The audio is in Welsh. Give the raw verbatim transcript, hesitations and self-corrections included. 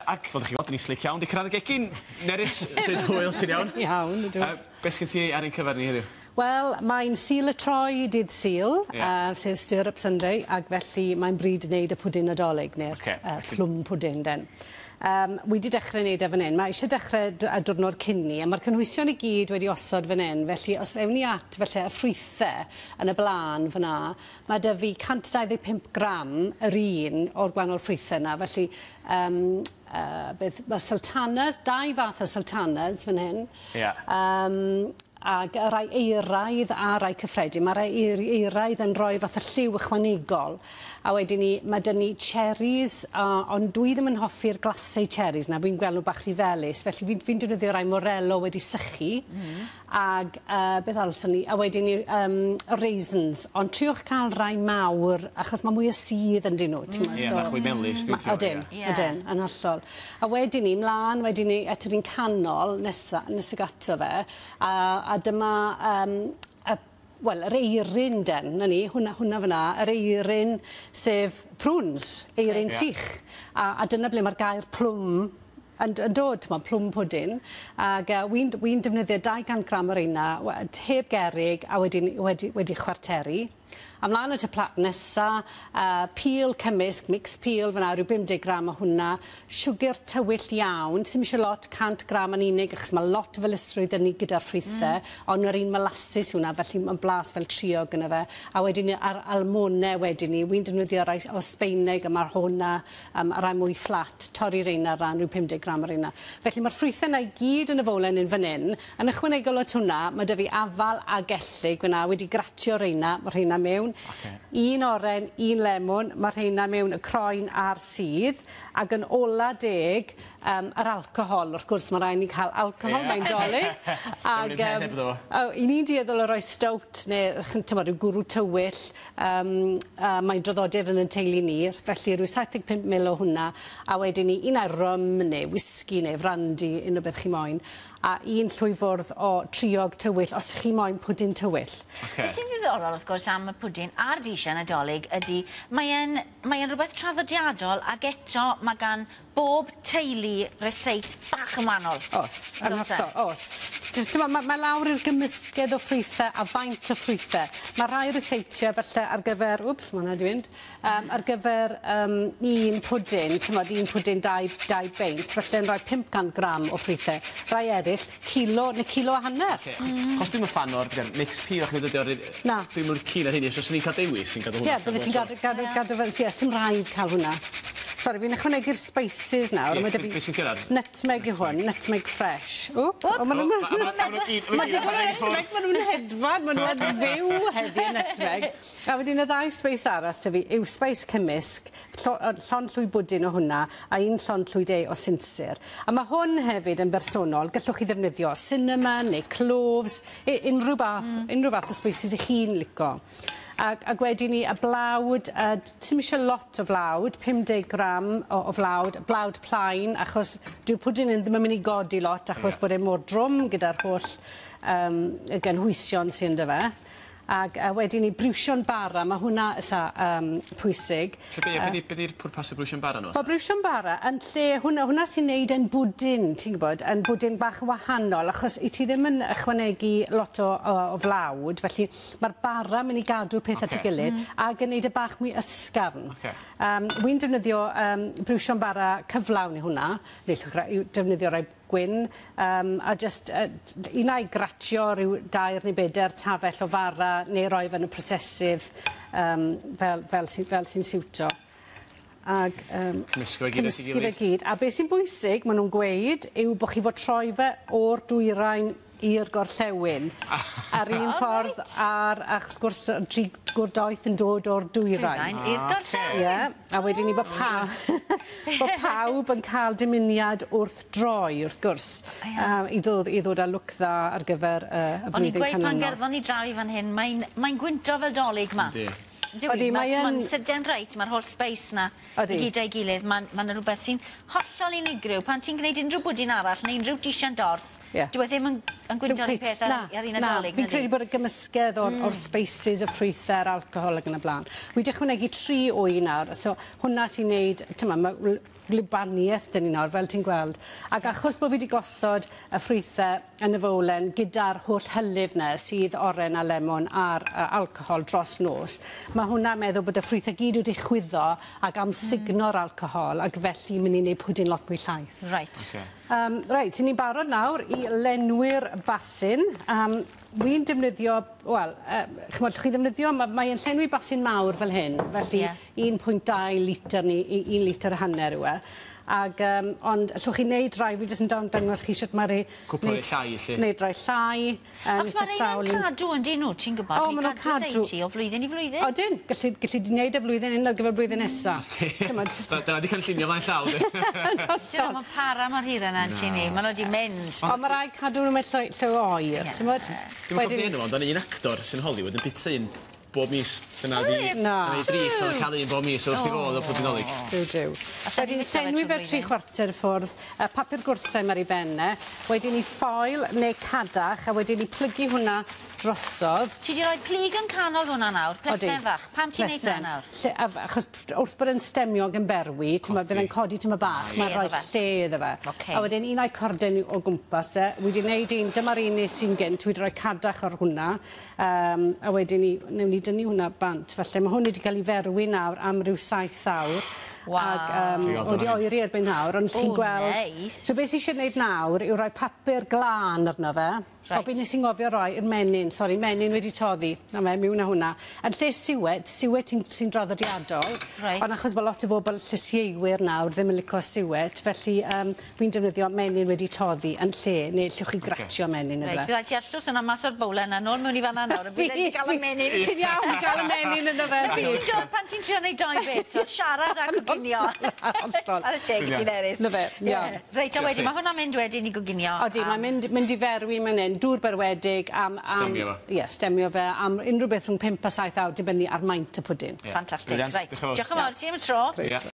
Ac fel 'dych chi weld, 'dyn ni slic iawn 'di cyrraedd y gegin. Nerys, sut hwyl, ti'n iawn? Iawn, ydw. Uh, beth sgyn ti ar ein cyfer ni heddiw? Wel, mae'n Sul y Troi dydd Sul, yeah. uh, sef Stir Up Sunday, ac felly mae'n bryd i wneud y pwdin Nadolig, neu'r Ocê, uh, felly- plum pudding den. Um, wi 'di dechrau wneud e fan hyn. Mae eisiau dechrau d- y diwrnod cyn ni, a mae'r cynhwysion i gyd wedi osod fan hyn, felly os ewn ni at felly y ffrwythau yn y blaen fyna, mae 'da fi cant dau ddeg pump gram yr un o'r gwahanol ffrwythau yna, felly um, uh, beth, mae sultanas, dau fath o sultanas fan hyn. Ie. Um, ag y rai euraidd a rai cyffredin. Mae rai eir- euraidd yn rhoi fath o lliw ychwanegol. A wedyn ni, mae 'da ni cherries, uh, ond dwi ddim yn hoffi'r glacé cherries 'na, fi'n gweld nhw bach rhy felys, felly fi'n fi defnyddio rai Morello wedi sychu. Mm. Ag uh, beth arall ni, a wedyn ni um, raisins, ond triwch cael rai mawr, achos mae mwy o sudd ynddyn nhw. Mm. Ie, bach fwy melys, dwi'n Ma- Odyn, Ie. odyn, yn hollol. A wedyn ni, mlaen, wedyn ni, at yr un canol nesa, nes ag ato fe, a, a dyma, um, y, wel, yr eirin den, na ni, hwnna, hwnna fyna, yr eirin sef prunes, eirin Ie. sych. A, a dyna ble mae'r gair plwm yn, yn dod, t'mod, plum pudding. Ag uh, wi'n wi defnyddio dau gant gram o'r reina, we- heb gerig, a wedyn wedi, wedi chwarteru. A mlaen at y plat nesa, uh, peel cymysg, mixed peel fyna, rhyw bum deg gram o hwnna, siwgr tywyll iawn, sim eisiau lot, cant gram yn unig, achos mae lot o felysrwydd yn ni gyda'r ffrwythau, mm. ond yr un molasses yw hwnna, felly mae'n blas fel triog yna fe. A wedyn ni- ar almonau wedyn ni, wi'n defnyddio rai o Sbeineg, a mae'r hwnna, um, a rai mwy fflat, torri reina ran, rhyw pum deg gram o'r reina. Felly mae'r ffrwythau yna i gyd yn y fowlen un fan hyn. Yn ychwanegol at hwnna, mae 'da fi afal a gellyg fyna, wedi gratio reina, mae rheina mewn. Ocê. Un oren, un lemwn, mae rheina mewn y croen a'r sudd, ac yn ola deg, um, yr alcohol. Wrth gwrs, mae rhaid ni cael alcohol, Ie. mae'n Dolig. Ag, yym, heb iddo fo. o, i ni'n dueddol o roi stout neu t'mod, ryw gwrw tywyll, um, uh, mae'n draddodiad yn ein teulu ni, felly rhyw saith deg pump mil o hwnna, a wedyn ni un ai rum neu whisky neu brandy, unrhyw beth chi moyn, a un llwy fwrdd o triog tywyll, os chi moyn pwdin tywyll. Ocê. Beth sy'n ddiddorol, wrth gwrs, am y pwdin a'r disiau Nadolig ydy, mae e'n mae e'n rhywbeth traddodiadol ac eto mae gan bob teulu ryseit bach yn wahanol. Os, yn Does e? hollol, os. Dyma, mae, mae lawr i'r gymysgedd o ffrwythau a faint o ffrwythau. Mae rhai ryseitiau falle ar gyfer, wps, mae hwnna 'di mynd, um, ar gyfer um, un pwdin, t'mod, un pwdin dau, dau beint, falle yn rhoi pump cant gram o ffrwythau. Rai eraill, kilo neu kilo a hanner. Ocê. Mm. Chos dwi'm yn fan o'r beth, mixed peel achos dydy o'r... Na. Dwi'm yn keen ar hynny, so os ni'n cael dewis, sy'n gadw Ie, hwnna. yeah, bydde ti'n gadw, gadw, gadw, fel, ie, sy'm rhaid cael hwnna. Sori, fi'n ychwanegu'r spices nawr. Ie, a ma' 'da be- fi be' sy'n ti ar? Nutmeg yw hwn, nutmeg fresh. O, o, ma' nhw'n... O, ma' ma' ma' nhw gyd- ma' Ma' nhw gyd digon o ar y nutmeg, ma' nhw'n hedfan, ma' nhw'n fyw heddi y nutmeg. A wedyn y ddau spice arall 'da fi yw spice cymysg, llo- yy, llond llwy bwdin o hwnna, a un llond llwy de o sinsir. A mae hwn hefyd yn bersonol, gallwch chi ddefnyddio cinnamon neu cloves, u- unrhyw bath, mm. unrhyw fath o spices i chi'n lico. Ac, ac wedyn ni, y blawd, uh, sim eisiau lot o flawd, pum deg gram o, o flawd, blawd plaen, achos dyw pwdin ddim yn mynd i godi lot, achos Ie. bod e mor drwm gyda'r holl um, y gynhwysion sy'n ynddo fe. Ac uh, wedyn ni briwsion bara, mae hwnna eitha um, pwysig. Lle be, be 'di- be 'di'r pwrpas y briwsion bara nhw? Wel, briwsion bara yn lle hwnna, hwnna sy'n neud yn bwdin, ti'n gwybod, yn bwdin bach yn wahanol, achos i ti ddim yn ychwanegu lot o, o, o flawd, felly mae'r bara mynd i gadw peth at ei Ocê. gilydd mm. ac yn neud e bach mwy ysgafn. Ocê. Um, Wy'n defnyddio um, briwsion bara cyflawn i hwnna, neu llwch ra- i defnyddio rai gwyn, um, a just uh, un ai gratio rhyw dair neu bedair tafell o fara neu roi fe yn y prosesydd um, fel, fel, sy, fel sy'n siwto. Ag, um, Cymysgu fe gyd at ei cymysgu fe gilydd. gyd. A beth sy'n bwysig, maen nhw'n gweud, yw bod chi fod troi fe o'r dwyrain i'r gorllewin. Ar un O, ffordd, reit. ar, ac wrth gwrs, tri gwr doeth yn dod o'r dwyrain. Dwyrain i'r gorllewin. Ie, a wedyn ni bod, pa, bod pawb yn cael dymuniad wrth droi, wrth gwrs, Ie. um, i, ddod, i ddod â lwc dda ar gyfer uh, y O'n i'n flwyddyn gweud pan canlynol. gerddon ni draw i fan hyn, mae'n mae gwynto fel Dolig ma. Yndi. Yndi, Odi, mae mae yn- Mae'n sydyn reit, mae'r holl space na Odi. i gyd a'i gilydd. Mae'n ma rhywbeth sy'n hollol unigryw. Pan ti'n gwneud unrhyw bwdin arall neu unrhyw disian dorth, Ie. dyw e ddim yn, yn gwynto'r un peth ar, Na, ar un na, Nadolig. Fi'n nadi? credu bod y gymysgedd o'r, mm. or spices, y ffrwythau, yr alcohol ac yn y blaen. Wi 'di ychwanegu tri wy nawr, so hwnna sy'n neud, tyma, mae gwlybaniaeth dyn ni nawr, fel ti'n gweld. Ac achos bod fi wedi gosod y ffrwythau yn y fowlen gyda'r holl hylif 'na sydd oren a lemon a'r uh, alcohol dros nos, mae hwnna'n meddwl bod y ffrwythau gyd wedi chwyddo ac amsugno'r mm. alcohol, ac felly mynd i wneud pwdin lot mwy llaith. Right. Okay. Um, reit, ni'n barod nawr i lenwi'r basin. Um, Wi'n defnyddio, wel, uh, ch'mod, chi ddefnyddio, mae'n mae llenwi basin mawr fel hyn, felly Ie. un pwynt dau litr ni, un litr a hanner yw e. Ag, um, ond allwch chi wneud rai, fi jyst yn dan- dangos chi sut mae rei... Cwpl o rei llai, 'lly. Wneud rai llai. Yn Achos eitha mae sawl rheina'n un. cadw yn dyn nhw, ti'n gwybod? O, Ni'n ma' nhw'n cadw cadw. rhei ti o flwyddyn i flwyddyn. Odyn, gallu, gallu di wneud y blwyddyn hyn ar gyfer blwyddyn nesa. T'mod, Da- Dyna di cynllunio flaen llaw, di. Dyna, mae'n para mor hir yna yn ti ni. Maen nhw wedi mynd. Ond mae rhaid cadw nhw mewn lle, lle oer, Ie. t'mod? Dwi'n cofio enw, ond un actor sy'n Hollywood yn bita un bob mis. Dyna di... Na. Dyna di dris, o'n cael un bob mis wrth i fod o pwdin Dolig. Duw, duw. Allan ni Wedyn fyta fe llenwi trwy fe tri flwyddyn. chwarter y ffwrdd, y papur gwrthsaim ar ei ben e, wedyn i ffoil neu cadach, a wedyn i plygu hwnna drosodd. Ti 'di rhoi plyg yn canol hwnna nawr, Odi. plethen fach. Pam ti'n neud na Plethen. nawr? Lle, a, achos wrth bod yn stemiog yn berwi, ti'n bydd yn codi tyma bach, Lle mae'n rhoi iddo fe. lle iddo fe. Ocê. A wedyn un o'i corden o gwmpas de, wi wedi wneud un, dyma'r un nes i'n gynt, wi wedi rhoi cadach ar hwnna, um, a wedyn ni, newn ni dynnu hwnna bant. Felly mae hwn wedi cael ei ferwi nawr am ryw saith awr. Waw. Ac um, Ti'n gweld wedi hwnna? oeri erbyn nawr, ond chi'n O, gweld... neis. So beth sydd eisiau gwneud nawr yw rhoi papur glân arno fe. Reit. O, be nes i'n gofio roi i'r menyn, sori, menyn wedi toddi. Na fe, miwn â hwnna. Yn lle siwet, siwet sy'n sy draddodiadol. Reit. Ond achos bod lot o bobl llysieuwyr nawr ddim yn licio siwet, felly um, fi'n defnyddio menyn wedi toddi yn lle, neu allwch chi gratio menyn Reit, iddo fe. bydd ti arllws yna mas o'r bowlen a nôl mewn i fan'na nawr, a bydd wedi cael y menyn. Ti'n iawn i gael y menyn yno fe. Na beth sy'n dod pan ti'n trio neud doi beth, o siarad a coginio. Hollol. Ar y teg i ti Nerys. Na fe, iawn. Reit, a Diolch wedyn, ti. mae hwnna'n mynd wedyn i goginio. Odi, am- mae'n mynd, mynd i ferwi man hyn, dŵr berwedig am... am Stemio fo. Ie, stemio fe am unrhyw beth rhwng pump a saith awr, dibynnu ar maint y pwdin. Ie. Ffantastig. Brilliant. Reit, Diolch yn fawr. diolch yn fawr ti am y tro. Grêt. Ie.